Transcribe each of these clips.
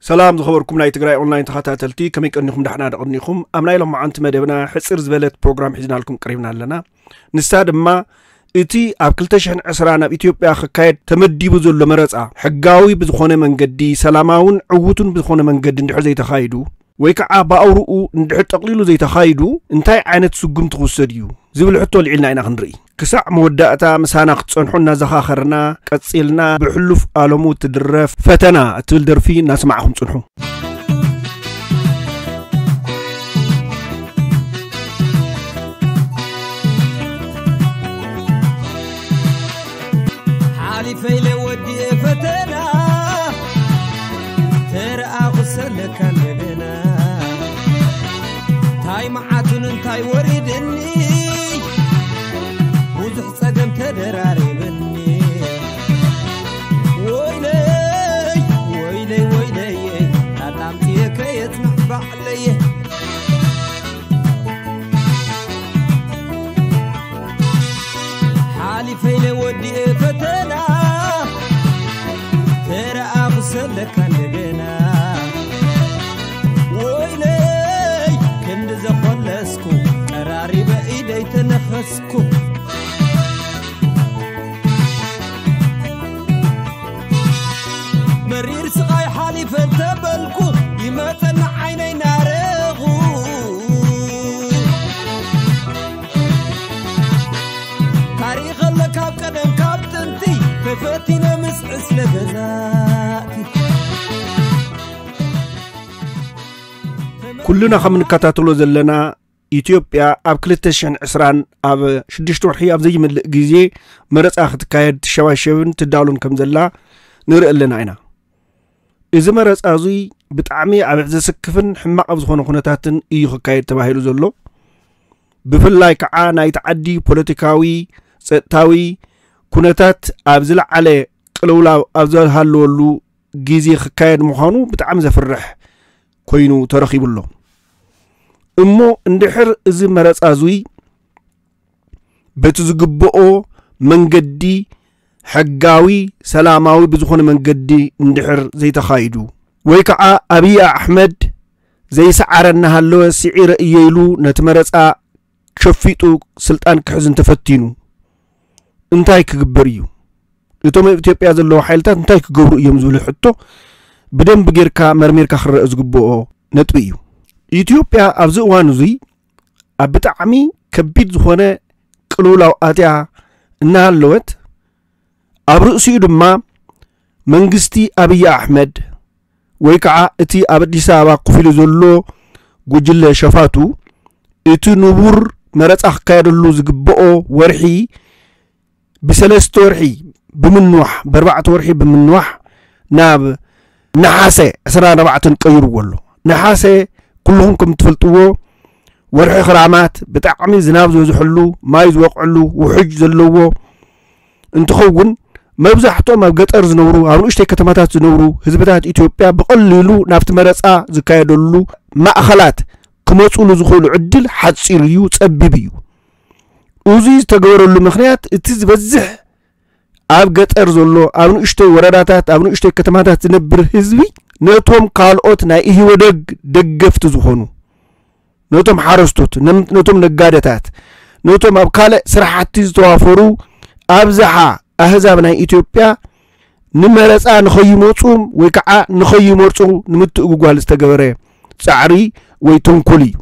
ሰላም ዝኸበርኩም ናይ ትግራይ ኦንላይን ተኸታተልቲ፣ ከመይ ቀኒኹም? ዳሕና ደቐኒኹም? ኣብ ናይ ሎማዓንቲ መደብና ሕጽር ዝበለት ፕሮግራም ሒዝናልኩም ቀሪብና ኣለና። ንሳ ድማ እቲ ኣብ ክልተ ሽሕን ዕስራን ኣብ ኢትዮጵያ ክካየድ ተመዲቡ ዘሎ መረጻ ሕጋዊ ብዝኾነ መንገዲ፣ ሰላማውን ዕዉትን ብዝኾነ መንገዲ እንድሕር ዘይተኻይዱ፣ ወይ ከዓ ብኣውርኡ እንድሕር ጠቕሊሉ ዘይተኻይዱ፣ እንታይ ዓይነት ስጉምቲ ክውሰድ እዩ ዝብል ሕቶ ልዒልና ኢና ክንርኢ። ክሳዕ መወዳእታ ምሳና ክትጸንሑ እናዘኻኸርና፣ ቀጺልና ብሕሉፍ ኣለሙ ትድረፍ ፈተና እትብል ደርፊ እናሰማዕኹም ጽንሑ። ሓሊፈ ኢለ ወዲኤ ፈተና፣ ተረኣኹ ሰለካ እንደገና። እንታይ መዓቱን እንታይ ወሪድኒ፣ ብዙሕ ጸገም ተደራሪብኒ። ወይለይ፣ ወይለይ፣ ወይለይ፣ ኣጣምጥየ ከየጽንዕ ባዕለየ። ሓሊፈ ኢለ ወዲኤ ፈተና፣ ተረኣኹ ሰለካ እንደገና። ወይለይ ክንዲ ዘኾለስኩ፣ ቀራሪበ ኢደይ ተነኸስኩ። መሪር ስቓይ ሓሊፈ እንተበልኩ፣ ይመጸኒ ዓይነይ ናረኹ። ታሪኽ ኣለ ካብ ቀደም ካብ ጥንቲ፣ ተፈቲነ ምስ ዕስለ ገዛእቲ። ኩልና ከም እንከታተሎ ዘለና፣ ኢትዮጵያ ኣብ ክልተ ሽሕን ዕስራን ኣብ ሽዱሽተ ወርሒ ኣብ ዘይምልእ ግዜ መረጻ ክትካየድ ትሸባሸብን ትዳሉን ከም ዘላ ንርኢ ኣለና ኢና። እዚ መረጻ እዙይ ብጣዕሚ ኣብ ዘስክፍን ሕማቕ ኣብ ዝኾነ ኩነታትን እዩ ክካየድ ተባሂሉ ዘሎ። ብፍላይ ከዓ ናይቲ ዓዲ ፖለቲካዊ፣ ጸጥታዊ ኩነታት ኣብ ዝለዓለ ቅልውላው ኣብ ዝሃለወሉ ግዜ ክካየድ ምዃኑ ብጣዕሚ ዘፍርሕ ኮይኑ ተረኺቡ ኣሎ። እሞ እንድሕር እዚ መረጻ እዙይ በቲ ዝግብኦ መንገዲ ሕጋዊ፣ ሰላማዊ ብዝኾነ መንገዲ እንድሕር ዘይተኻይዱ፣ ወይ ከዓ ኣብይ ኣሕመድ ዘይሰዓረ እናሃለወ ስዒረ እየ ኢሉ ነቲ መረጻ ሸፊጡ ስልጣን ክሕዝ እንተፈቲኑ እንታይ ክግበር እዩ? እቶም ኣብ ኢትዮጵያ ዘለዉ ሓይልታት እንታይ ክገብሩ እዮም ዝብል ሕቶ ብደንቢ ጌርካ መርሚርካ ክረአ ዝግብኦ ነጥቢ እዩ። ኢትዮጵያ ኣብዚ እዋን እዙይ ኣብ ብጣዕሚ ከቢድ ዝኾነ ቅልውላው ኣትያ እናሃለወት፣ ኣብ ርእሲኡ ድማ መንግስቲ ኣብይ ኣሕመድ ወይ ከዓ እቲ ኣብ ኣዲስ ኣበባ ኮፍ ኢሉ ዘሎ ጉጅለ ሸፋቱ፣ እቲ ንቡር መረጻ ክካየደሉ ዝግብኦ ወርሒ ብሰለስተ ወርሒ ብምንዋሕ፣ ብኣርባዕተ ወርሒ ብምንዋሕ ናብ ነሓሰ ዕስራን ኣርባዕተን ቀይርዎ ኣሎ። ነሓሰ ኩልኹም ከም እትፈልጥዎ ወርሒ ክራማት ብጣዕሚ ዝናብ ዝበዝሐሉ፣ ማይ ዝወቕዐሉ፣ ውሕጅ ዘለዎ እንትኸውን፣ መብዛሕትኦም ኣብ ገጠር ዝነብሩ፣ ኣብ ንኡሽተይ ከተማታት ዝነብሩ ህዝብታት ኢትዮጵያ ብቐሊሉ ናብቲ መረጻ ዝካየደሉ ማእኸላት ክመጹሉ ዝኽእሉ ዕድል ሓጺር እዩ፣ ጸቢብ እዩ። እዚ ዝተገበረሉ ምኽንያት እቲ ዝበዝሕ ኣብ ገጠር ዘሎ፣ ኣብ ንኡሽተይ ወረዳታት፣ ኣብ ንኡሽተይ ከተማታት ዝነብር ህዝቢ ነቶም ካልኦት ናይ ኢህወደግ ደገፍቲ ዝኾኑ፣ ነቶም ሓረስቶት፣ ነም-፣ ነቶም ነጋደታት፣ ነቶም ኣብ ካልእ ስራሕቲ ዝተዋፈሩ ኣብዝሓ ኣህዛብ ናይ ኢትዮጵያ ንመረጻ ንኸይመጹ ወይ ከዓ ንኸይመርጹ ንምትእጉጓል ዝተገበረ ጻዕሪ ወይ ተንኮል እዩ።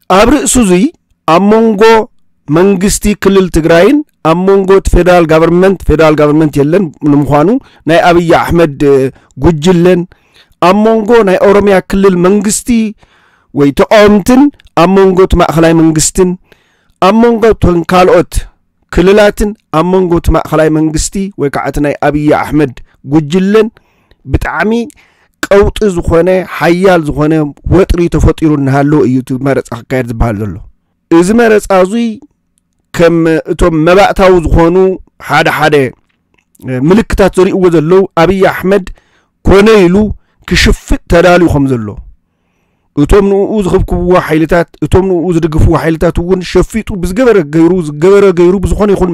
ኣብ ርእሲ እዙይ ኣብ መንጎ መንግስቲ ክልል ትግራይን ኣብ መንጎ እቲ ፌደራል ጋቨርንመንት፣ ፌደራል ጋቨርንመንት የለን ንምዃኑ፣ ናይ ኣብይ ኣሕመድ፣ እ፣ ጉጅለን ኣብ መንጎ ናይ ኦሮሚያ ክልል መንግስቲ ወይ ተቃወምትን ኣብ መንጎ እቲ ማእኸላይ መንግስትን ኣብ መንጎ እተን ካልኦት ክልላትን ኣብ መንጎ እቲ ማእኸላይ መንግስቲ ወይ ከዓ እቲ ናይ ኣብይ ኣሕመድ ጉጅለን ብጣዕሚ ቀውጢ ዝኾነ፣ ሓያል ዝኾነ ወጥሪ ተፈጢሩ እናሃለወ እዩ እቲ መረፃ ክካየድ ዝበሃል ዘሎ። እዚ መረፃ እዙይ ከም እቶም መባእታዊ ዝኾኑ ሓደ ሓደ ምልክታት ዘርእይዎ ዘለዉ፣ ኣብይ ኣሕመድ ኮነ ኢሉ ክሽፍጥ ተዳልዩ ከም ዘሎ፣ እቶም ንኡ ዝኽብክብዎ ሓይልታት፣ እቶም ንኡ ዝድግፍዎ ሓይልታት እውን ሸፊጡ ብዝገበረ ገይሩ፣ ዝገበረ ገይሩ ብዝኾነ ይኹን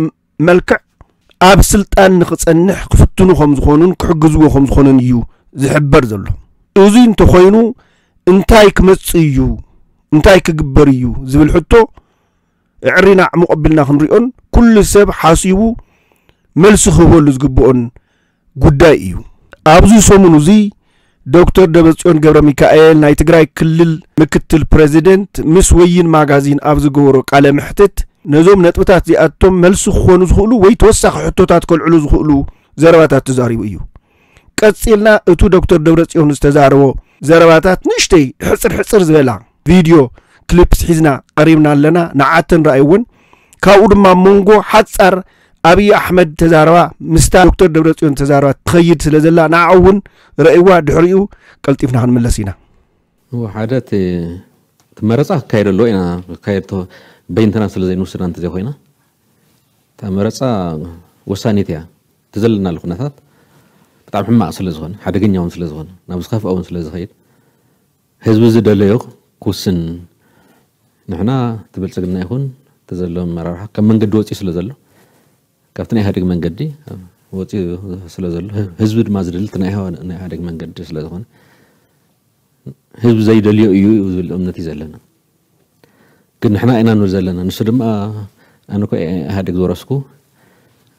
መልክዕ ኣብ ስልጣን ንኽጸንሕ ክፍትኑ ከም ዝኾኑን ክሕግዝዎ ከም ዝኾኑን እዩ ዝሕበር ዘሎ። እዚ እንተኾይኑ እንታይ ክመጽእ እዩ? እንታይ ክግበር እዩ? ዝብል ሕቶ እዕሪና ዕሙቕ ኣቢልና ክንሪኦን ኩሉ ሰብ ሓሲቡ መልሲ ክህበሉ ዝግብኦን ጉዳይ እዩ። ኣብዚ ሰሙን እዚ ዶክተር ደብረጽዮን ገብረ ሚካኤል ናይ ትግራይ ክልል ምክትል ፕሬዚደንት ምስ ወይን ማጋዚን ኣብ ዝገበሮ ቃለ መሕትት ነዞም ነጥብታት እዚኣቶም መልሲ ክኾኑ ዝኽእሉ ወይ ተወሳኺ ሕቶታት ከልዕሉ ዝኽእሉ ዘረባታት ተዛሪቡ እዩ። ቀጺልና እቱ ዶክተር ደብረጽዮን ዝተዛረቦ ዘረባታት ንእሽተይ ሕጽር ሕጽር ዝበላ ቪድዮ ክሊፕስ ሒዝና ቀሪብና ኣለና። ንዓተን ረኣይወን። ካብኡ ድማ መንጎ ሓጻር ኣብይ ኣሕመድ ተዛረባ ምስታ ዶክተር ደብረጽዮን ተዛረባ ትኸይድ ስለ ዘላ ንዓ እውን ረእይዋ። ድሕሪኡ ቀልጢፍና ክንምለስ ኢና። እዎ፣ ሓደ እቲ እቲ መረፃ ክካየድ ኣለዎ ኢና። ክካየድ ተ- በይንትና ስለ ዘይንውስና እንተዘይኮይና፣ እታ መረፃ ወሳኒት እያ። እቲ ዘለናሉ ኩነታት ብጣዕሚ ሕማቕ ስለ ዝኾነ፣ ሓደገኛ እውን ስለ ዝኾነ፣ ናብ ዝኸፍአ እውን ስለ ዝኸይድ፣ ህዝቢ ዝደለዮ ክውስን፣ ንሕና እቲ ብልፅግና ይኹን እቲ ዘሎ ኣመራርሓ ካብ መንገዲ ወፂኡ ስለ ዘሎ፣ ካብቲ ናይ ኢህኣዴግ መንገዲ ወፂኡ ስለ ዘሎ፣ ህዝቢ ድማ ዝደሊ እቲ ናይ ኢህዋ- ናይ ኢህኣዴግ መንገዲ ስለ ዝኾነ፣ ህዝቢ ዘይደልዮ እዩ ዝብል እምነት እዩ ዘለና። ግን ንሕና ኢና ንብል ዘለና። ንሱ ድማ ኣነ እኮ እየ ኢህኣዴግ ዝወረስኩ፣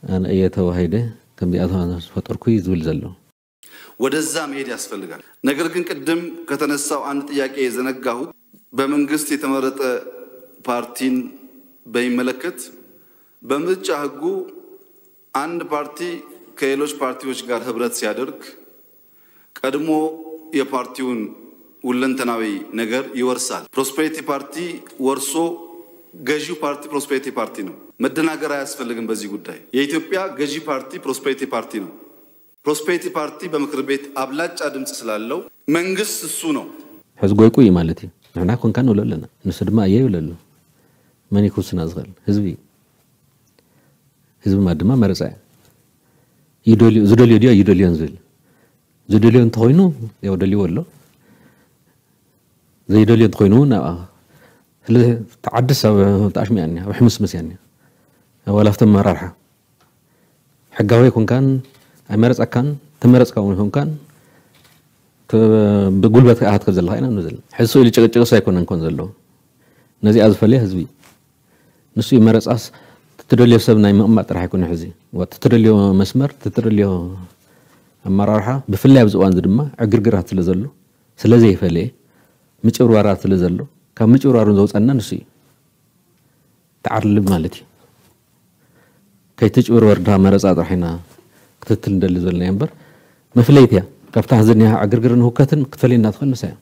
ኣነ እየ ተዋሂደ፣ ከምዚኣ ዝፈጠርኩ እዩ ዝብል ዘሎ። ወደዛ መሄድ ያስፈልጋል። ነገር ግን ቅድም ከተነሳው አንድ ጥያቄ የዘነጋሁት በመንግስት የተመረጠ ፓርቲን በሚመለከት በምርጫ ህጉ አንድ ፓርቲ ከሌሎች ፓርቲዎች ጋር ህብረት ሲያደርግ ቀድሞ የፓርቲውን ሁለንተናዊ ነገር ይወርሳል። ፕሮስፐሪቲ ፓርቲ ወርሶ ገዢው ፓርቲ ፕሮስፐሪቲ ፓርቲ ነው። መደናገር አያስፈልግም በዚህ ጉዳይ። የኢትዮጵያ ገዢ ፓርቲ ፕሮስፐሪቲ ፓርቲ ነው። ፕሮስፐሪቲ ፓርቲ በምክር ቤት አብላጫ ድምፅ ስላለው መንግስት እሱ ነው። ሕዚ ጎይቁ እዩ ማለት እዩ። ንሕና ኮንካ ንብሎ ኣለና፣ ንሱ ድማ እየ ይብለሉ። መን እዩ ክውስና ዝኽእል? ህዝቢ እዩ። ህዝቢ ማለት ድማ መረፃ እዩ። ይደልዮ ዝደልዮ ድዮ ይደልዮን ዝብል ዝደልዮ እንተኾይኑ ያው ደልይዎ ኣሎ። ዘይደልዮ እንተኾይኑ እውን ኣብኣ ስለ ተዓድስ ኣብ ተኣሽሚያ እኒኣ ኣብ ሕምስምስ እያ እኒኣ። ዋላ ኣብቲ ኣመራርሓ ሕጋዊ ኣይኮንካን ኣይመረፀካን ተመረፅካ እውን ኣይኮንካን ብጉልበት ኣሃት ከብ ዘለካ ኢና ንብል ዘለና። ሕዚ ስኡ ኢሉ ጭቅጭቅስ ኣይኮነን ኮን ዘለዎ ነዚኣ ዝፈለየ ህዝቢ እዩ። ንሱ እዩ መረፃስ ትትደልዮ ሰብ ናይ ምቕማጥ ጥራሕ ኣይኮነ ሕዚ ትትደልዮ መስመር ትትደልዮ ኣመራርሓ ብፍላይ ኣብዚ እዋን እዚ ድማ ዕግርግራት ስለ ዘሎ ስለ ዘይፈለየ ምጭብርባራት ስለ ዘሎ ካብ ምጭብርባር እውን ዘውፀና ንሱ እዩ። ተዓርልብ ማለት እዩ። ከይትጭብርበር ድኻ መረፃ ጥራሕ ኢና ክትትል ንደሊ ዘለና እምበር መፍለይቲ እያ። ካብታ ዝኒሃ ዕግርግርን ህውከትን ክትፈልየና ትኽእል ንሳ እያ።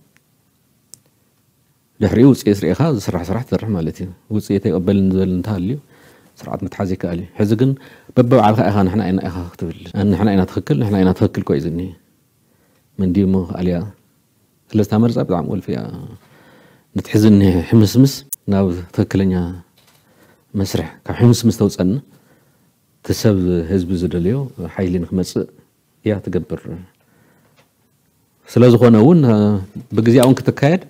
ድሕሪኡ ውፅኢት ርኢኻ ዝስራሕ ስራሕ ትሰርሕ ማለት እዩ። ውፅኢት ኣይቀበልን ዝበል እንተሃልዩ ስርዓት ምትሓዝ ይከኣል እዩ። ሕዚ ግን በበባዕልካ ኢኻ ንሕና ኢና ኢኻ ክትብል ንሕና ኢና ትኽክል ንሕና ኢና ትኽክል ኮ እዩ ዝኒ መንዲ እሞ ኣልያ ስለዚ እታ መርፃ ብጣዕሚ ወልፊ እያ። ነቲ ሕዚ እኒሀ ሕምስምስ ናብ ትኽክለኛ መስርሕ ካብ ሕምስምስ ተውፀና እቲ ሰብ ህዝቢ ዝደልዮ ሓይሊ ንክመፅእ እያ ትገብር። ስለ ዝኾነ እውን ብግዜኣ እውን ክትካየድ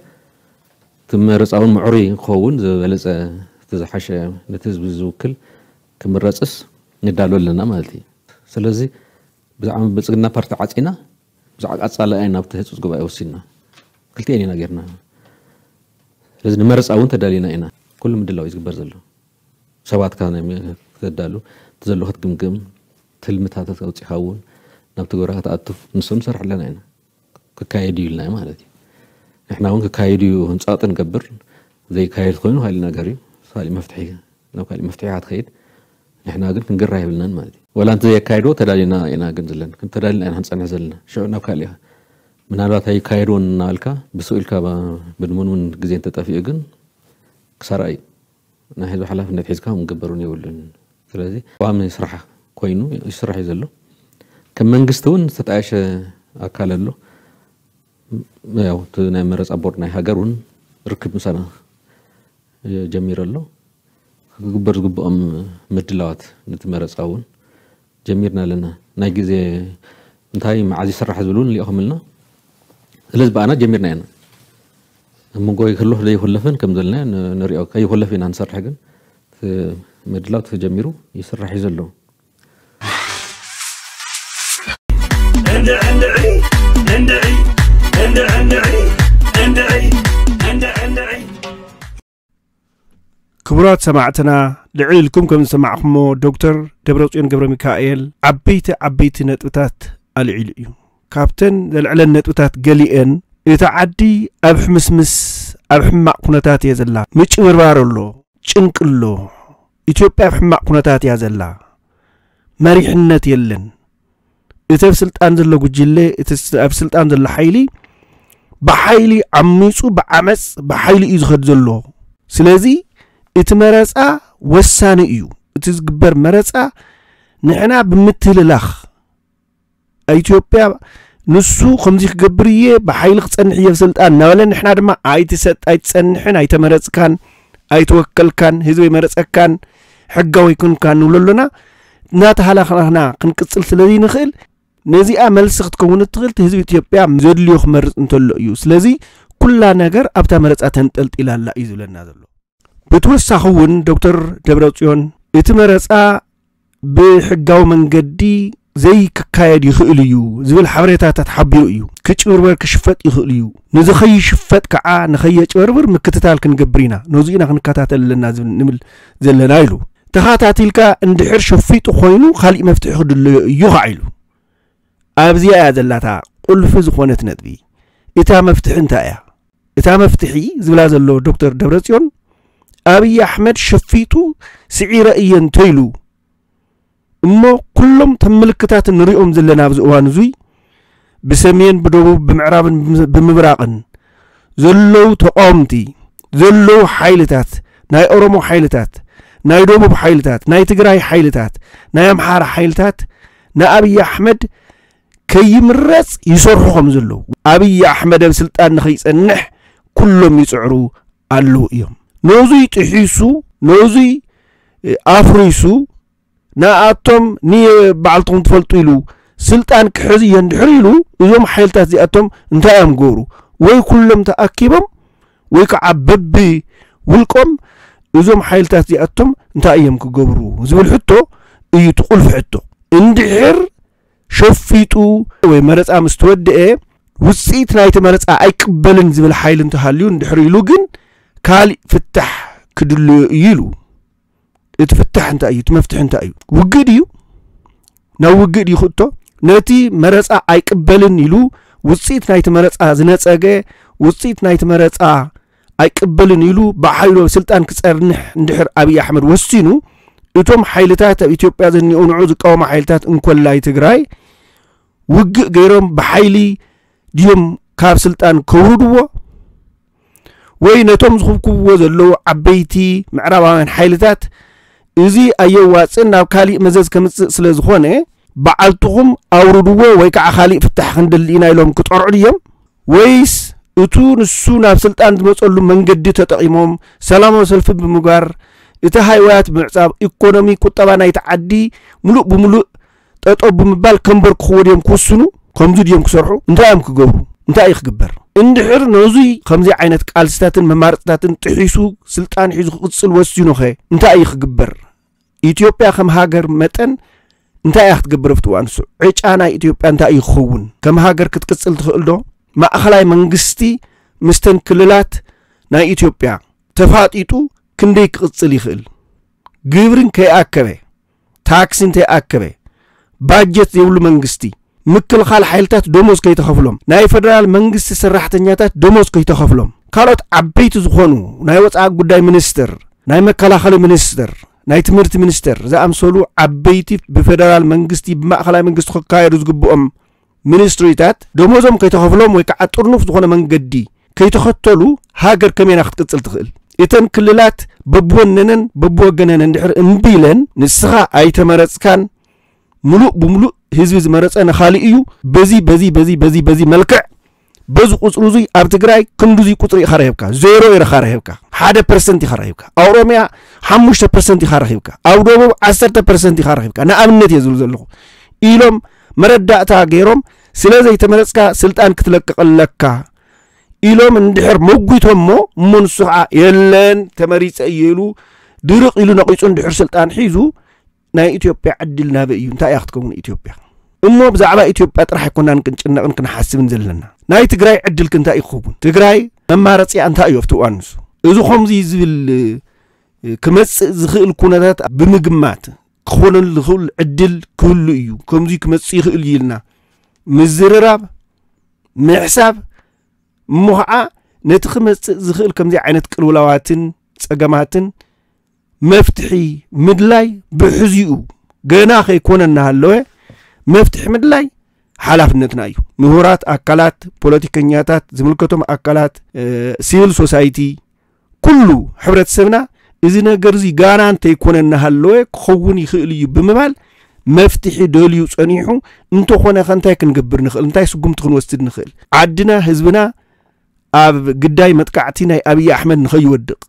እቲ መረፃ እውን ምዕሩይ ክኸውን ዝበለፀ እቲ ዝሓሸ ነቲ ህዝቢ ዝውክል ክምረፅስ ንዳሎ ኣለና ማለት እዩ። ስለዚ ብዛዕባ ብልፅግና ፓርቲ ዓፂና ብዛዕባ ቀፃሊ ኢና ናብቲ ህፁፅ ጉባኤ ወሲንና ክልቲኤን ኢና ጌርና። ስለዚ ንመረፃ እውን ተዳሊና ኢና። ኩሉ ምድላው እዩ ዝግበር ዘሎ። ሰባትካ ናይ ም- ከተዳሉ እቲ ዘሎ ክትግምግም ትልምታት ኣውፂኻ እውን ናብ ትግበራ ክትኣቱ ንሶም ንሰርሕ ኣለና ኢና። ክካየድ እዩ ኢልና ማለት እዩ። ንሕና እውን ክካየድ እዩ ህንፃጥ ንገብር ዘይካየድ ኮይኑ ካሊእ ነገር እዩ። ካሊእ መፍትሒ ናብ ካሊእ መፍትሒ ኢኻ ትኸይድ። ንሕና ግን ክንግራ የብልናን ማለት እዩ። ወላ እንተ ዘየካየድዎ ተዳሊና ኢና ግን ዝለን ተዳሊና ኢና ክንፀንሕ ዘለና ሽዑ ናብ ካሊእ ኢኻ ምናልባት ኣይካየድዎን እናበልካ ብስኡ ኢልካ ብድሙንሙን ግዜ እንተጠፊኡ ግን ክሳራ እዩ። ናይ ህዝቢ ሓላፍነት ሒዝካ ምገበር እውን የብሉን። ስለዚ ቀዋሚ ስራሕ ኮይኑ ይስራሕ እዩ ዘሎ። ከም መንግስቲ እውን ዝተጣየሸ ኣካል ኣሎ። ያው እቲ ናይ መረፃ ቦርድ ናይ ሃገር እውን ርክብ ምሳና ጀሚሩ ኣሎ። ክግበር ዝግብኦም ምድላዋት ነቲ መረፃ እውን ጀሚርና ኣለና። ናይ ግዜ እንታይ መዓዝ ይስራሕ ዝብል እውን ልኢኹምልና። ስለዚ ብኣና ጀሚርና ኢና። ኣብ መንጎ ይሕለፍ ዘይሕለፍን ከም ዘለና ንሪኦ ከይሕለፍ ኢና ንሰርሕ ግን ምድላው ተጀሚሩ ይስራሕ እዩ ዘሎ። ክቡራት ሰማዕትና፣ ልዕል ኢልኩም ከም ዝሰማዕኹሞ፣ ዶክተር ደብረጽዮን ገብረ ሚካኤል ዓበይቲ ዓበይቲ ነጥብታት ኣልዒሉ እዩ። ካብተን ዘልዕለን ነጥብታት ገሊአን፣ እታ ዓዲ ኣብ ሕምስምስ፣ ኣብ ሕማቕ ኩነታት እየ ዘላ፣ ምጭብርባር ኣሎ፣ ጭንቂ ኣሎ፣ ኢትዮጵያ ኣብ ሕማቕ ኩነታት እያ ዘላ፣ መሪሕነት የለን፣ እቲ ኣብ ስልጣን ዘሎ ጉጅለ፣ እቲ ስ-፣ ኣብ ስልጣን ዘሎ ሓይሊ ብሓይሊ ዓሚፁ፣ ብዓመፅ፣ ብሓይሊ እዩ ዝኸድ ዘሎ። ስለዚ እቲ መረፃ ወሳኒ እዩ። እቲ ዝግበር መረፃ ንሕና ብምትህልላኽ፣ ኢትዮጵያ ንሱ ከምዚ ክገብር እየ፣ ብሓይሊ ክፀንሕ እየ ኣብ ስልጣን እናበለ፣ ንሕና ድማ ኣይትሰጥ፣ ኣይትፀንሕን፣ ኣይተመረፅካን፣ ኣይተወከልካን፣ ህዝቢ ኣይመረፀካን፣ ሕጋዊ ኣይኮንካን ንብሎ ኣሎና። እናተሃላኽናኽና ክንቅፅል ስለ ዘይንኽእል፣ ነዚኣ መልሲ ክትከውን እትኽእል፣ እቲ ህዝቢ ኢትዮጵያ ዘድልዮ ክመርፅ እንተሎ እዩ። ስለዚ ኩላ ነገር ኣብታ መረፃ ተንጠልጢላ ኣላ እዩ ዝብለና ዘሎ። ብተወሳኺ እውን ዶክተር ደብረጽዮን፣ እቲ መረፃ ብሕጋዊ መንገዲ ዘይክካየድ ይኽእል እዩ ዝብል ሓበሬታታት ሓቢሩ እዩ። ክጭብርበር ክሽፈጥ ይኽእል እዩ። ንዝኸይሽፈጥ ከዓ ንኸየጭበርብር ምክትታል ክንገብር ኢና። ነዚ ኢና ክንከታተል ኣለና ዝብል ንብል ዘለና ኢሉ። ተኸታቲልካ እንድሕር ሸፊጡ ኮይኑ ካሊእ መፍትሒ ክድለዮ እዩ ከዓ ኢሉ። ኣብዚኣ እያ ዘላታ ቁልፊ ዝኾነት ነጥቢ። እታ መፍትሒ እንታይ እያ? እታ መፍትሒ ዝብላ ዘሎ ዶክተር ደብረጽዮን፣ ኣብይ ኣሕመድ ሸፊጡ ስዒረ እየ እንተኢሉ እሞ፣ ኩሎም ተም ምልክታት ንሪኦም ዘለና ኣብዚ እዋን እዙይ፣ ብሰሜን፣ ብደቡብ፣ ብምዕራብን ብምስ-፣ ብምብራቕን ዘለዉ ተቃወምቲ፣ ዘለዉ ሓይልታት፣ ናይ ኦሮሞ ሓይልታት፣ ናይ ደቡብ ሓይልታት፣ ናይ ትግራይ ሓይልታት፣ ናይ ኣምሓራ ሓይልታት ንኣብይ ኣሕመድ ከይምረፅ ይሰርሑ ከም ዘለዉ፣ ኣብይ ኣሕመድ ኣብ ስልጣን ንኸይፀንሕ ኩሎም ይፅዕሩ ኣለዉ እዮም። ነዙይ ጥሒሱ፣ ነዙይ፣ እ፣ ኣፍሪሱ፣ ንኣቶም ንበዓልትኹም ትፈልጡ ኢሉ ስልጣን ክሕዝ እየ እንድሕር ኢሉ፣ እዞም ሓይልታት እዚኣቶም እንታይ እዮም ገብሩ? ወይ ኩሎም ተኣኪቦም፣ ወይ ከዓ በቢ ውልቆም እዞም ሓይልታት እዚኣቶም እንታይ እዮም ክገብሩ? ዝብል ሕቶ እዩ እቲ ቁልፊ ሕቶ። እንድሕር ሸፊጡ ወይ መረፃ ምስ ተወደአ፣ ውፅኢት ናይቲ መረፃ ኣይቅበልን ዝብል ሓይሊ እንተሃልዩ፣ እንድሕር ኢሉ ግን ካሊእ ፍታሕ ክድልዮ እዩ ኢሉ። እቲ ፍታሕ እንታይ እዩ? እቲ መፍትሒ እንታይ እዩ? ውግእ ድዩ? ናብ ውግእ ድዩ ክእቶ? ነቲ መረፃ ኣይቅበልን ኢሉ፣ ውፅኢት ናይቲ መረፃ ዝነፀገ፣ ውፅኢት ናይቲ መረፃ ኣይቅበልን ኢሉ፣ ብሓይሉ ኣብ ስልጣን ክፀንሕ እንድሕር ኣብይ ኣሕመድ ወሲኑ፣ እቶም ሓይልታት ኣብ ኢትዮጵያ ዘኒኦ ንዑ ዝቃወሙ ሓይልታት እንኮላይ ትግራይ ውግእ ገይሮም ብሓይሊ ድዮም ካብ ስልጣን ከውርድዎ? ወይ ነቶም ዝኹብኩብዎ ዘለዉ ዓበይቲ ምዕራባውያን ሓይልታት፣ እዚ ኣየዋፅእን ናብ ካሊእ መዘዝ ከምፅእ ስለ ዝኾነ፣ በዓልትኹም ኣውርድዎ ወይ ከዓ ካሊእ ፍታሕ ክንደሊ ኢና ኢሎም ክጠርዑ ድዮም? ወይስ እቱ ንሱ ናብ ስልጣን ዝመፀሉ መንገዲ ተጠቒሞም ሰላማዊ ሰልፊ ብምግባር፣ እቲ ሃይዋያት ብምዕፃብ፣ ኢኮኖሚ፣ ቁጠባ ናይቲ ዓዲ ሙሉእ ብሙሉእ ጠጠው ብምባል ከንበርክኽዎ ድዮም ክውስኑ? ከምዚ ድዮም ክሰርሑ? እንታይ እዮም ክገብሩ? እንታይ እዩ ክግበር? እንድሕር ነዙይ ከምዚ ዓይነት ቃልስታትን መማረፅታትን ጥሒሱ ስልጣን ሒዙ ክቕፅል ወሲኑኸ እንታይ እዩ ክግበር? ኢትዮጵያ ከም ሃገር መጠን እንታይ እያ ክትገብር ኣብቲ እዋን ንሱ? ዕጫ ናይ ኢትዮጵያ እንታይ እዩ ክኸውን? ከም ሃገር ክትቅፅል ትኽእል ዶ? ማእኸላይ መንግስቲ ምስተን ክልላት ናይ ኢትዮጵያ ተፋጢጡ ክንደይ ክቕፅል ይኽእል? ግብሪ እንከይኣከበ፣ ታክሲ እንተይኣከበ፣ ባጀት ዘይብሉ መንግስቲ፣ ምክልኻል ሓይልታት ደሞዝ ከይተኸፍሎም፣ ናይ ፈደራል መንግስቲ ሰራሕተኛታት ደሞዝ ከይተኸፍሎም፣ ካልኦት ዓበይቲ ዝኾኑ ናይ ወፃኢ ጉዳይ ሚኒስትር፣ ናይ መከላኸሊ ሚኒስትር፣ ናይ ትምህርቲ ሚኒስትር ዝኣምሰሉ ዓበይቲ ብፈደራል መንግስቲ ብማእኸላይ መንግስቲ ክካየዱ ዝግብኦም ሚኒስትሪታት ደሞዞም ከይተኸፍሎም ወይ ከዓ ጥርኑፍ ዝኾነ መንገዲ ከይተኸተሉ ሃገር ከመይና ክትቅፅል ትኽእል? እተን ክልላት በብወነነን በብወገነን እንድሕር እምቢ ኢለን፣ ንስኻ ኣይተመረፅካን፣ ሙሉእ ብሙሉእ ህዝቢ ዝመረፀ ንኻሊእ እዩ፣ በዚ በዚ በዚ በዚ በዚ መልክዕ በዚ ቁፅሪ እዙይ ኣብ ትግራይ ክንዱዙይ ቁፅሪ ኢኻ ረኺብካ፣ ዜሮ ኢኻ ረኺብካ፣ ሓደ ፐርሰንት ኢኻ ረኺብካ፣ ኣብ ኦሮሚያ ሓሙሽተ ፐርሰንት ኢኻ ረኺብካ፣ ኣብ ደቡብ ዓሰርተ ፐርሰንት ኢኻ ረኺብካ፣ ንኣብነት እየ ዝብል ዘለኹ ኢሎም መረዳእታ ገይሮም፣ ስለ ዘይተመረፅካ ስልጣን ክትለቅቕ ኣለካ ኢሎም እንድሕር መጒቶሞ፣ እሞ ንሱ ከዓ የለን ተመሪፀ እየ ኢሉ ድርቕ ኢሉ ነቒፁ እንድሕር ስልጣን ሒዙ፣ ናይ ኢትዮጵያ ዕድል ናበይ እዩ? እንታይ እያ ክትከውን ኢትዮጵያ? እሞ ብዛዕባ ኢትዮጵያ ጥራሕ ኣይኮናን ክንጭነቕን ክንሓስብን ዘለና። ናይ ትግራይ ዕድል ክንታይ እዩ ክኸውን? ትግራይ መማረፂያ እንታይ እዩ ኣብቲ እዋን ንሱ? እዚ ከምዚ ዝብል ክመፅእ ዝኽእል ኩነታት ብምግማት ክኾነሉ ዝኽእል ዕድል ክህሉ እዩ፣ ከምዚ ክመፅእ ይኽእል እዩ ኢልና ምዝርራብ፣ ምሕሳብ፣ እሞ ኸዓ ነቲ ክመፅእ ዝኽእል ከምዚ ዓይነት ቅልውላዋትን ፀገማትን መፍትሒ ምድላይ ብሕዚኡ ገና ከይኮነ እናሃለወ መፍትሒ ምድላይ ሓላፍነትና እዩ። ምሁራት ኣካላት፣ ፖለቲከኛታት፣ ዝምልከቶም ኣካላት፣ ሲቪል ሶሳይቲ፣ ኩሉ ሕብረተሰብና እዚ ነገር እዚ ጋና እንተይኮነ እናሃለወ ክኸውን ይኽእል እዩ ብምባል መፍትሒ ደልዩ ጸኒሑ እንተኾነ ከ እንታይ ክንገብር ንኽእል? እንታይ ስጉምቲ ክንወስድ ንኽእል? ዓድና፣ ህዝብና ኣብ ግዳይ መጥቃዕቲ ናይ ኣብይ ኣሕመድ ንኸይወድቕ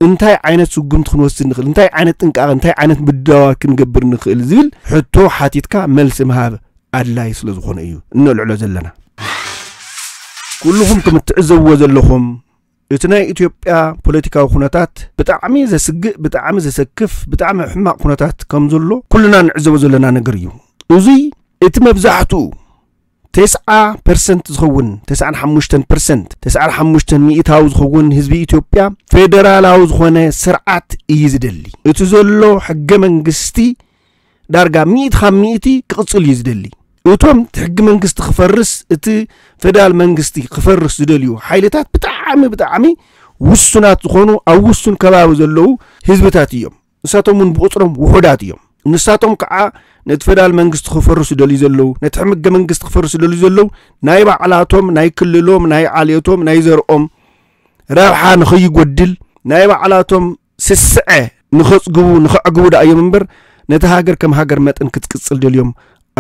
እንታይ ዓይነት ስጉምቲ ክንወስድ ንኽእል? እንታይ ዓይነት ጥንቃቐ፣ እንታይ ዓይነት ምድላዋት ክንገብር ንኽእል ዝብል ሕቶ ሓቲትካ መልሲ ምሃብ ኣድላይ ስለ ዝኾነ እዩ እነልዕሎ ዘለና። ኩልኹም ከም እትዕዘብዎ ዘለኹም እቲ ናይ ኢትዮጵያ ፖለቲካዊ ኩነታት ብጣዕሚ ዘስግእ፣ ብጣዕሚ ዘሰክፍ፣ ብጣዕሚ ሕማቕ ኩነታት ከም ዘሎ ኩልና ንዕዘቦ ዘለና ነገር እዩ። እዙይ እቲ መብዛሕትኡ ተስዓ ፐርሰንት ዝኸውን፣ ተስዓን ሓሙሽተን ፐርሰንት፣ ተስዓን ሓሙሽተን ሚእታዊ ዝኸውን ህዝቢ ኢትዮጵያ ፌደራላዊ ዝኾነ ስርዓት እዩ ዝደሊ። እቲ ዘሎ ሕገ መንግስቲ ዳርጋ ሚእቲ ካብ ሚእቲ ክቕጽል እዩ ዝደሊ። እቶም እቲ ሕገ መንግስቲ ክፈርስ፣ እቲ ፌደራል መንግስቲ ክፈርስ ዝደልዩ ሓይልታት ብጣዕሚ፣ ብጣዕሚ ውሱናት ዝኾኑ ኣብ ውሱን ከባቢ ዘለዉ ህዝብታት እዮም። ንሳቶም እውን ብቑጽሮም ውሑዳት እዮም። ንሳቶም ከዓ ነቲ ፌደራል መንግስቲ ክፈርሱ ደልዩ ዘለዉ፣ ነቲ ሕገ መንግስቲ ክፈርሱ ደልዩ ዘለዉ ናይ ባዕላቶም፣ ናይ ክልሎም፣ ናይ ዓሌቶም፣ ናይ ዘርኦም ረብሓ ንኸይጎድል ናይ ባዕላቶም ስስዐ ንኸጽግቡ፣ ንኸዕግቡ ደኣ እዮም እምበር ነቲ ሃገር ከም ሃገር መጠን ክትቅጽል ደልዮም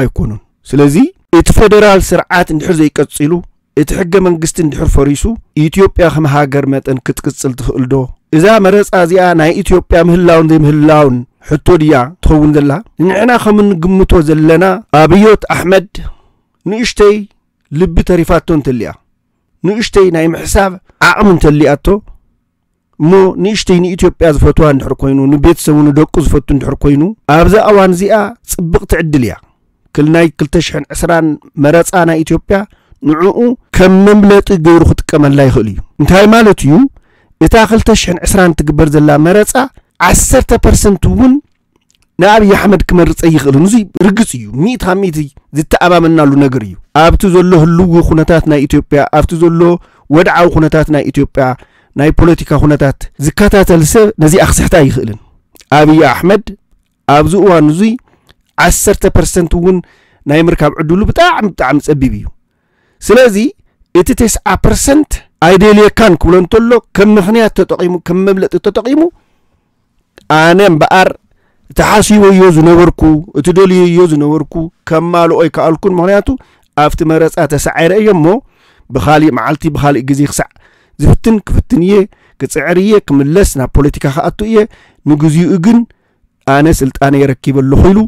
ኣይኮኑን። ስለዚ እቲ ፌደራል ስርዓት እንድሕር ዘይቀጺሉ፣ እቲ ሕገ መንግስቲ እንድሕር ፈሪሱ፣ ኢትዮጵያ ከም ሃገር መጠን ክትቅጽል ትኽእል ዶ? እዛ መረጻ እዚኣ ናይ ኢትዮጵያ ምህላውን ዘይምህላውን ሕቶ ድያ ትኸውን ዘላ? ንሕና ከም እንግምቶ ዘለና ኣብዮት ኣሕመድ ንእሽተይ ልቢ ተሪፋቶ እንተሊኣ፣ ንእሽተይ ናይ ምሕሳብ ዓቕሚ እንተሊኣቶ፣ እሞ ንእሽተይ ንኢትዮጵያ ዝፈትዋ እንድሕር ኮይኑ፣ ንቤተሰቡ ንደቁ ዝፈቱ እንድሕር ኮይኑ፣ ኣብዛ እዋን እዚኣ ጽብቕቲ ዕድል እያ። ክል ናይ ክልተ ሽሕን ዕስራን መረጻ ናይ ኢትዮጵያ ንዕኡ ከም መምለጢ ገይሩ ክጥቀመላ ይኽእል እዩ። እንታይ ማለት እዩ? እታ ክልተ ሽሕን ዕስራን ትግበር ዘላ መረጻ ዓሰርተ ፐርሰንት እውን ንኣብይ ኣሕመድ ክመርጸ ይኽእልን። እዚ ርግጽ እዩ። ሚእቲ ካብ ሚእቲ ዝተኣማመናሉ ነገር እዩ። ኣብቲ ዘሎ ህልዊ ኩነታት ናይ ኢትዮጵያ፣ ኣብቲ ዘሎ ወድዓዊ ኩነታት ናይ ኢትዮጵያ፣ ናይ ፖለቲካ ኩነታት ዝከታተል ሰብ ነዚኣ ክስሕታ ኣይኽእልን። ኣብይ ኣሕመድ ኣብዚ እዋን እዙይ ዓሰርተ ፐርሰንት እውን ናይ ምርካብ ዕድሉ ብጣዕሚ፣ ብጣዕሚ ጸቢብ እዩ። ስለዚ እቲ ተስዓ ፐርሰንት ኣይደልየካን ክብሎ እንተሎ ከም ምኽንያት ተጠቒሙ፣ ከም መብለጢ ተጠቒሙ፣ ኣነ እምበኣር እቲ ሓሲበዮ ዝነበርኩ፣ እቲ ደልየዮ ዝነበርኩ ከማልኦ ኣይከኣልኩን። ምኽንያቱ ኣብቲ መረጻ ተሳዒረ እየ እሞ ብኻሊእ መዓልቲ፣ ብኻሊእ ግዜ ክሳዕ ዝፍትን ክፍትን እየ፣ ክጽዕር እየ፣ ክምለስ፣ ናብ ፖለቲካ ክኣቱ እየ። ንግዚኡ ግን ኣነ ስልጣነይ ረኪበ ኣለኹ ኢሉ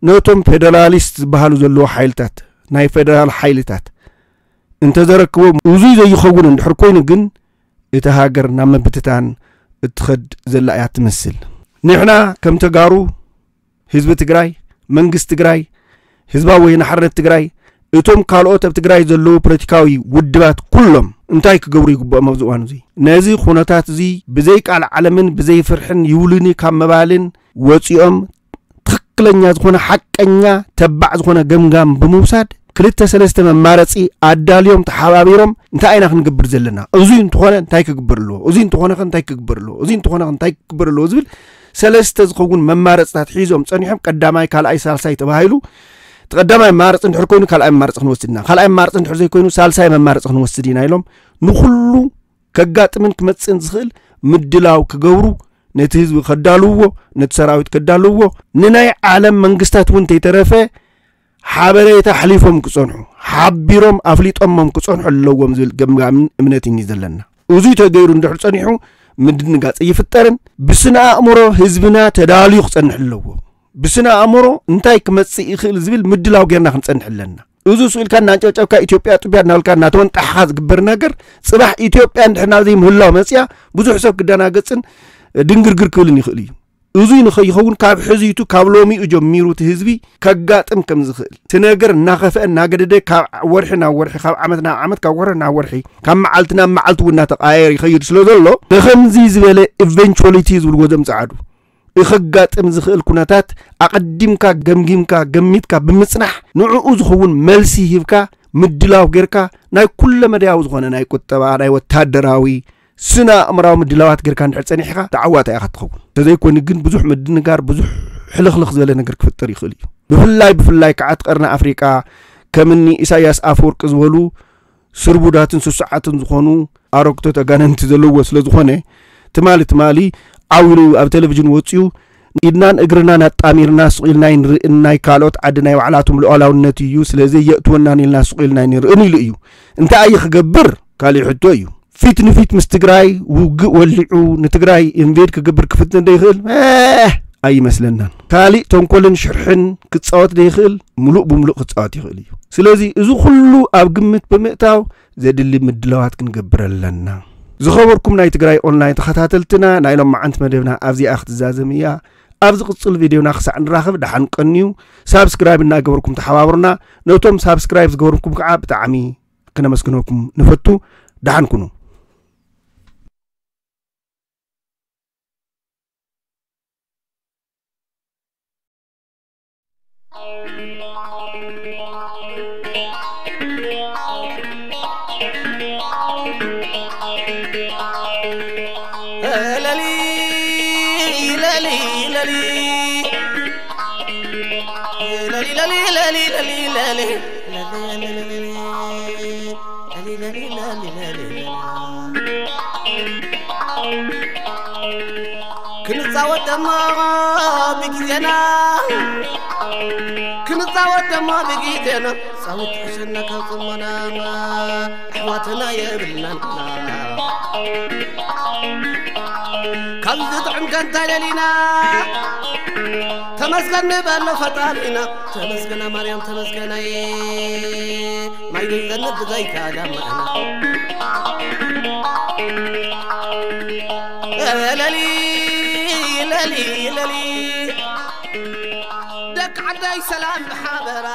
ነቶም ፌደራሊስት ዝበሃሉ ዘለዉ ሓይልታት፣ ናይ ፌደራል ሓይልታት እንተዘረክቦም፣ እዙይ ዘይኸውን እንድሕር ኮይኑ ግን እታ ሃገር ናብ ምብትታን እትኸድ ዘላ እያ ትመስል። ንሕና ከም ተጋሩ፣ ህዝቢ ትግራይ፣ መንግስቲ ትግራይ፣ ህዝባዊ ወያነ ሓርነት ትግራይ፣ እቶም ካልኦት ኣብ ትግራይ ዘለዉ ፖለቲካዊ ውድባት ኩሎም እንታይ ክገብሩ ይግብኦም ኣብዚ እዋን እዚ? ነዚ ኩነታት እዚ ብዘይ ቃል ዓለምን ብዘይ ፍርሕን ይውልኒ ካብ ምባልን ወፂኦም ትኽክለኛ ዝኾነ ሓቀኛ ተባዕ ዝኾነ ገምጋም ብምውሳድ ክልተ ሰለስተ መማረፂ ኣዳልዮም ተሓባቢሮም እንታይ ኢና ክንገብር ዘለና? እዙይ እንተኾነ እንታይ ክግበር ኣለዎ? እዙይ እንተኾነ ከ እንታይ ክግበር ኣለዎ? እዙይ እንተኾነ ከ እንታይ ክግበር ኣለዎ? ዝብል ሰለስተ ዝኸውን መማረፅታት ሒዞም ፀኒሖም ቀዳማይ፣ ካልኣይ፣ ሳልሳይ ተባሂሉ እቲ ቀዳማይ መማረፂ እንድሕር ኮይኑ ካልኣይ መማረፂ ክንወስድ ኢና፣ ካልኣይ መማረፂ እንድሕር ዘይኮይኑ ሳልሳይ መማረፂ ክንወስድ ኢና ኢሎም ንኹሉ ከጋጥምን ክመጽእን ዝኽእል ምድላው ክገብሩ ነቲ ህዝቢ ከዳልውዎ፣ ነቲ ሰራዊት ከዳልውዎ፣ ንናይ ዓለም መንግስታት እውን እንተይተረፈ ሓበሬታ ኣሕሊፎም ክጸንሑ፣ ሓቢሮም ኣፍሊጦሞም ክጸንሑ ኣለዎም ዝብል ገምጋምን እምነትን እዩ ዘለና። እዙይ ተገይሩ እንድሕር ጸኒሑ ምድንጋጽ ኣይፍጠርን። ብስነ ኣእምሮ ህዝብና ተዳልዩ ክጸንሕ ኣለዎ። ብስነ ኣእምሮ እንታይ ክመጽእ ይኽእል ዝብል ምድላው ጌርና ክንጸንሕ ኣለና። እዚ ስኢልካ እናንጨብጨብካ ኢትዮጵያ ጥብያ እናበልካ እናተወንጣሕኻ ዝግበር ነገር ጽባሕ ኢትዮጵያ እንድሕር ናብ ዘይምህላው መጽያ ብዙሕ ሰብ ክደናገጽን ድንግርግር ክብልን ይኽእል እዩ። እዙይ ንኸይኸውን ካብ ሕዚቱ ካብ ሎሚኡ ጀሚሩ እቲ ህዝቢ ከጋጥም ከም ዝኽእል እቲ ነገር እናኸፍአ እናገደደ ካብ ወርሒ ናብ ወርሒ ካብ ዓመት ናብ ዓመት ካብ ወርሒ ናብ ወርሒ ካብ መዓልቲ ናብ መዓልቲ እውን እናተቃየር ይኸይድ ስለ ዘሎ ብኸምዚ ዝበለ ኢቨንቹዋሊቲ ዝብልዎ ዘምፅዓዱ ከጋጥም ዝኽእል ኩነታት ኣቐዲምካ ገምጊምካ ገሚትካ ብምፅናሕ ንዕኡ ዝኸውን መልሲ ሂብካ ምድላው ጌርካ ናይ ኩለ መዳያዊ ዝኾነ ናይ ቁጠባ ናይ ወታደራዊ ስነ ኣእምራዊ ምድላዋት ጌርካ እንድሕር ጸኒሕካ ተዓዋታይ ኢኻ ትኸውን። ተዘይኮይኑ ግን ብዙሕ ምድንጋር ብዙሕ ሕልኽልኽ ዝበለ ነገር ክፍጠር ይኽእል እዩ። ብፍላይ ብፍላይ ከዓ እቲ ቀርኒ ኣፍሪቃ ከምኒ ኢሳያስ ኣፈወርቂ ዝበሉ ስርቡዳትን ስሱዓትን ዝኾኑ ኣረግቶት ኣጋንንቲ ዘለዎ ስለ ዝኾነ ትማሊ ትማሊ ዓው ኢሉ ኣብ ቴሌቪዥን ወፂኡ ኢድናን እግርናን ኣጣሚርና ስቕ ኢልና ኣይንርእን ናይ ካልኦት ዓዲ ናይ ባዕላቶም ሉዓላውነት እዩ ስለዚ የእትወናን ኢልና ስቕ ኢልና ኣይንርእን ኢሉ እዩ። እንታይ እዩ ክገብር? ካሊእ ሕቶ እዩ። ፊት ንፊት ምስ ትግራይ ውግእ ወሊዑ ንትግራይ ኢንቬድ ክገብር ክፍትን ዶ ይኽእል? ኣይመስለናን። ካሊእ ተንኮልን ሽርሕን ክፃወት ዶ ይኽእል? ሙሉእ ብሙሉእ ክፃወት ይኽእል እዩ። ስለዚ እዚ ኩሉ ኣብ ግምት ብምእታው ዘድሊ ምድላዋት ክንገብር ኣለና። ዝኸበርኩም ናይ ትግራይ ኦንላይን ተኸታተልትና ናይ ሎማዓንቲ መደብና ኣብዚኣ ክትዛዘም እያ። ኣብ ዝቕፅል ቪድዮና ክሳዕ ንራኸብ ደሓን ቀንዩ። ሳብስክራይብ እናገበርኩም ተሓባብሩና። ነቶም ሳብስክራይብ ዝገበርኩም ከዓ ብጣዕሚ ክነመስግነኩም ንፈቱ። ደሓን ኩኑ። ክንጻወት ደሞ ብግዜና ክንጻወት ደሞ ብግዜና ጻወት ሕሸና ካብ ጽሞና ኣሕዋትና የብልናን ካብ ዝጥዕም ከንታ ደሊና ተመስገን ንበሎ ፈጣሪና ተመስገና ማርያም ተመስገናይ ማይ ዘይዘንብ ብዘይካ ዳመና ለሊ ለሊ ለሊ ደቂ ዓዳይ ሰላም ብሓበራ